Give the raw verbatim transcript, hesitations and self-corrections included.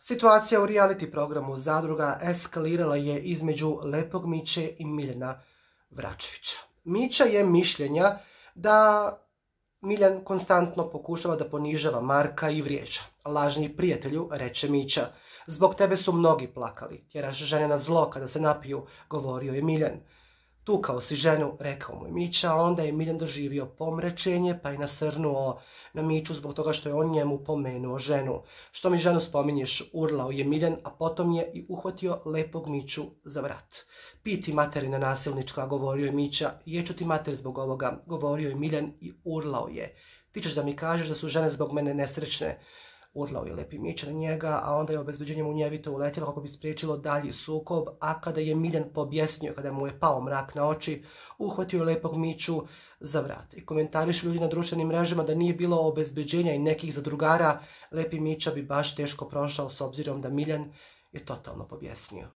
Situacija u reality programu Zadruga eskalirala je između Lepog Miće i Miljana Vračevića. Mića je mišljenja da Miljan konstantno pokušava da ponižava Marka i vrijeđa. Lažni prijatelju, reče Mića, zbog tebe su mnogi plakali, tjeraš žene na zlo kada se napiju, govorio je Miljan. Tukao si ženu, rekao mu je Mića, a onda je Miljan doživio pomračenje pa je nasrnuo na Miću zbog toga što je on njemu pomenuo ženu. Što mi ženu spominješ, urlao je Miljan, a potom je i uhvatio Lepog Miću za vrat. Piti materina nasilnička, govorio je Mića, jeću ti mater zbog ovoga, govorio je Miljan i urlao je. Ti ćeš da mi kažeš da su žene zbog mene nesrećne, urlao je Lepi Mića na njega, a onda je obezbeđenje munjevito uletjelo kako bi spriječilo dalji sukob, a kada je Miljan pobjesnio, kada mu je pao mrak na oči, uhvatio je Lepog Miću za vrat. I komentarišu ljudi na društvenim mrežama da nije bilo obezbeđenja i nekih zadrugara, Lepi Mića bi baš teško prošao s obzirom da Miljan je totalno pobjesnio.